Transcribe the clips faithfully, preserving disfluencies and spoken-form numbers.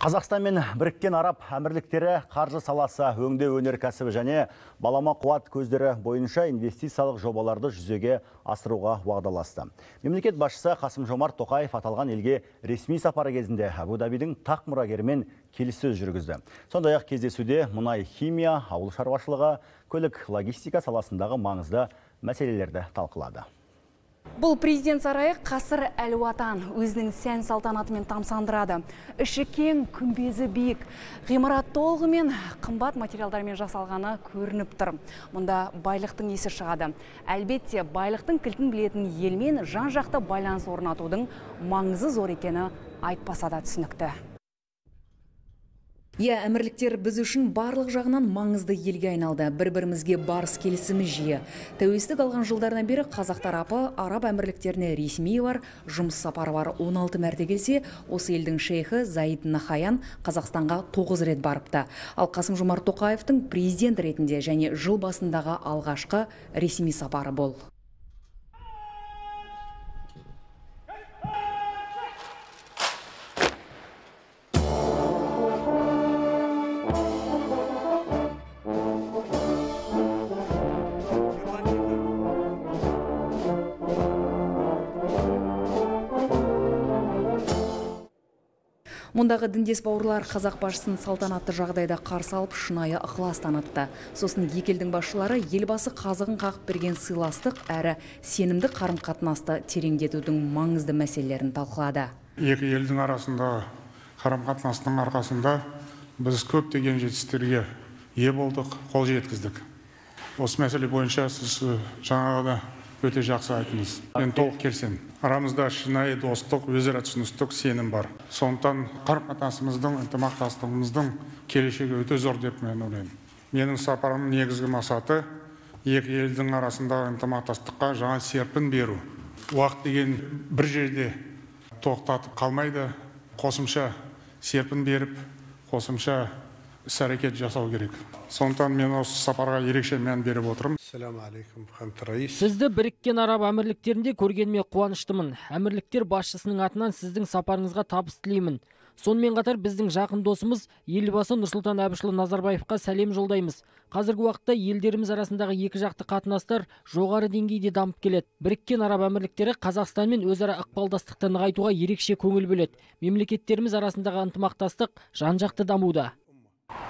Қазақстан мен Біріккен Араб Әмірліктері қаржы саласы, өңдеу өнеркәсібі және балама қуат көздері бойынша инвестициялық жобаларды жүзеге асыруға уағдаласты. Мемлекет басшысы Қасым-Жомарт Тоқаев аталған елге ресми сапары кезінде Абу-Дабидің тақ мұрагерімен келіссөз жүргізді. Сондай-ақ кездесуде мұнай, химия, ауыл шаруашылығы, көлік, логистика саласындағы маңызды мәселелерді талқылады. Бұл президент сарайы қасыр Әл-Уатан өзінің сән салтанатымен тамсандырады. Іші кең, күмбезі биік, ғимарат толығымен қымбат материалдармен жасалғаны көрініп тұр. Мұнда байлықтың есі шығады. Әлбетте, байлықтың кілтін білетін елмен жан-жақты байланыс орнатудың маңызы зор екені айтпаса да түсінікті. Иә, әмірліктер біз үшін барлық жағынан маңызды елге айналды. Бір-бірімізге барыс келісіміз жиі. Тәуелсіздік алған жылдардан бері қазақ тарапы араб әмірліктеріне ресми бар, жұмыс сапары бар он алты мәрте келсе, осы елдің шейхі Заид Нахаян Қазақстанға тоғыз рет барыпты. Ал Қасым-Жомарт Тоқаевтың президент ретінде және жыл басындағы алғашқы ресми сапары бол. Мұндағы діндес бауырлар қазақ басшысын салтанатты жағдайда қарсы алып шынайы ықылас танытты. Сосын екі елдің басшылары елбасы қазығын қағып берген сыйластық әрі сенімді қарым-қатынасты тереңдетудің маңызды мәселелерін талқылады. Екі елдің арасындағы қарым-қатынастың арқасында біз көптеген жетістіктерге ие болдық, қол жеткіздік. Осы мәселе бойынша сіз жаңағыда өте жақсы айттыңыз. Мен толық келісемін. Арамызда шынайы достық, өзара түсіністік, сенім бар. Сондықтан қарым-қатынасымыздың, ынтымақтастығымыздың келешегі өте зор деп мен ойлаймын. Менің сапарымның негізгі мақсаты екі елдің арасындағы ынтымақтастыққа жаңа серпін беру. Уақыт деген бір жерде тоқтатып қалмайды, қосымша серпін беріп, қосымша іс-әрекет жасау керек. Сондықтан мен осы сапарға ерекше мән беріп отырмын. Сізді Біріккен Араб Әмірліктерінде көргеніме қуаныштымын. Әмірліктер басшысының атынан сіздің сапарыңызға табыс тілеймін. Сонымен қатар біздің жақын досымыз елбасы Нұрсұлтан Әбішұлы Назарбаевқа сәлем жолдаймыз. Қазіргі уақытта елдеріміз арасындағы екі жақты қатынастар жоғары деңгейде дамып келеді. Біріккен Араб Әмірліктері Қазақстанмен өзара ықпалдастықты нығайтуға ерекше көңіл бөледі. Мемлекеттеріміз арасындағы ынтымақтастық жан-жақты дамуда.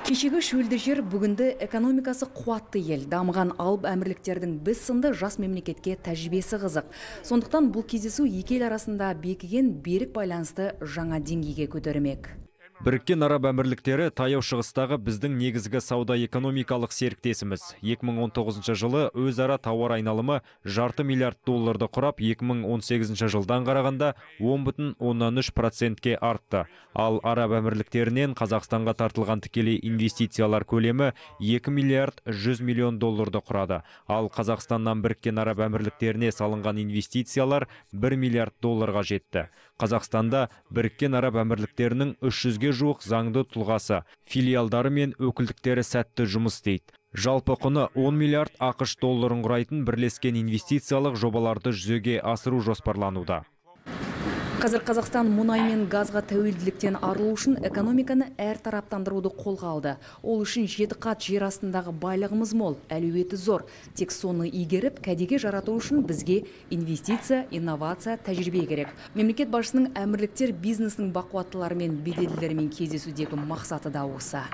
Кешегі шөлді жер бүгінді экономикасы қуатты ел, дамыған алып әмірліктердің біз сынды жас мемлекетке тәжірибесі қызық. Сондықтан бұл кездесу екі ел арасында бекіген берік байланысты жаңа деңгейге көтермек. Біріккен Араб Әмірліктері таяу шығыстағы біздің негізгі сауда-экономикалық серіктесіміз. екі мың он тоғызыншы жылы өзара тауар айналымы жарты миллиард долларды құрап, екі мың он сегізінші жылдан қарағанда он бүтін оннан үш процентке артты. Ал Араб Әмірліктерінен Қазақстанға тартылған тікелей инвестициялар көлемі екі миллиард жүз миллион долларды құрады. Ал Қазақстаннан Біріккен Араб Әмірліктеріне салынған инвестициялар бір миллиард долларға жетті. Қазақстанда Біріккен Араб Әмірліктерінің үш жүзге жуық заңды тұлғасы, филиалдары мен өкілдіктері сәтті жұмыс істейді. Жалпы құны он миллиард ақш долларын құрайтын бірлескен инвестициялық жобаларды жүзеге асыру жоспарлануда. Қазір Қазақстан мұнай мен газға тәуелділіктен арылу үшін экономиканы әр тараптандыруды қолға алды. Ол үшін жеті қат жер астындағы байлығымыз мол, әлеуеті зор. Тек соны игеріп, кәдеге жарату үшін бізге инвестиция, инновация, тәжірибе керек. Мемлекет басшысының әмірліктер бизнесінің бақуаттыларымен, беделділерімен кездесудегі мақсаты да осы.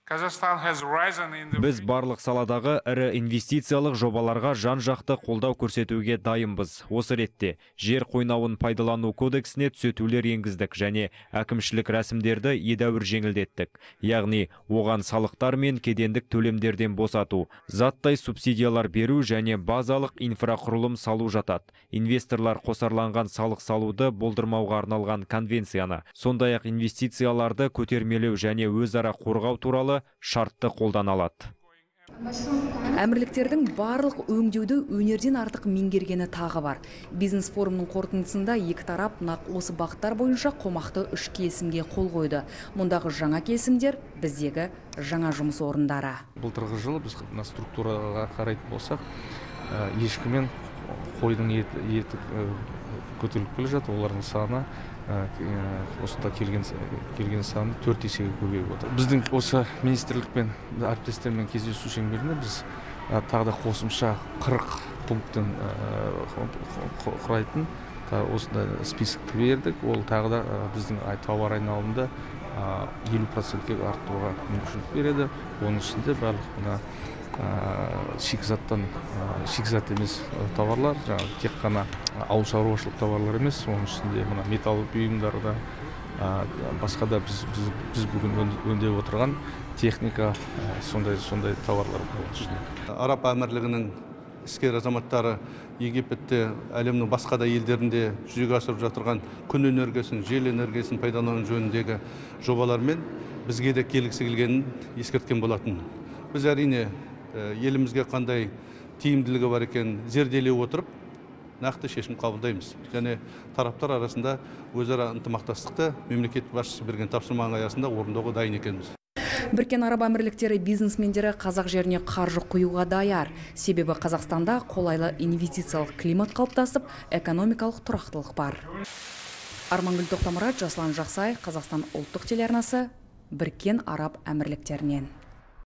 Біз барлық саладағы ірі инвестициялық жобаларға жан-жақты қолдау көрсетуге дайынбыз. Осы ретте жер қойнауын пайдалану кодексіне түзетулер енгіздік және әкімшілік рәсімдерді едәуір жеңілдеттік. Яғни оған салықтар мен кедендік төлемдерден босату, заттай субсидиялар беру және базалық инфрақұрылым салу жатады. Инвесторлар қосарланған салық салуды болдырмауға арналған конвенцияны, сондай-ақ инвестицияларды көтермелеу және өзара қорғау туралы шартты қолдана алады. Әмірліктердің барлық өңдеуді өнерден артық меңгергені тағы бар. Бизнес форумның қорытындысында екі тарап нақ осы бағыттар бойынша қомақты үш келісімге қол қойды. Мұндағы жаңа келісімдер біздегі жаңа жұмыс орындары. Былтырғы жылы біз структураға қарайтын болсақ, ешкі мен қойдың еті көтеріліп келе жатыр. Олардың саны осында келген келген саны төрт есеге көбейіп отыр. Біздің осы министрлікпен әріптестермен кездесу шеңберінде біз тағы да қосымша қырық пункттен құрайтын осындай списокті бердік. Ол тағы да біздің тауар айналымында елу процентке арттыруға мүмкіншілік береді. Оның ішінде барлық мына шикізаттан шикізат емес тауарлар, жаңағы тек қана ауыл шаруашылық тауарлар емес, оның ішінде мына металл бұйымдарда, басқа да біз біз біз бүгін өңдеп отырған техника, сондай сондай товарлар бар. Араб әмірлігінің іскер азаматтары Египетте, әлемнің басқа да елдерінде жүзеге асырып жатырған күн энергиясын, жел энергиясын пайдалану жөніндегі жобалармен бізге де келгісі келгенін ескерткен болатын. Біз әрине елімізге қандай тиімділігі бар екенін зерделей отырып, нақты шешім қабылдаймыз. Және тараптар арасында өзара ынтымақтастықты мемлекет басшысы берген тапсырманың аясында орындауға дайын екенбіз. Біріккен Араб Әмірліктері бизнесмендері қазақ жеріне қаржы құюға даяр. Себебі Қазақстанда қолайлы инвестициялық климат қалыптасып, экономикалық тұрақтылық бар. Армангүл Тоқтамұрат, Жаслан Жақсай, Қазақстан ұлттық телеарнасы, Біріккен Араб Әмірліктерінен.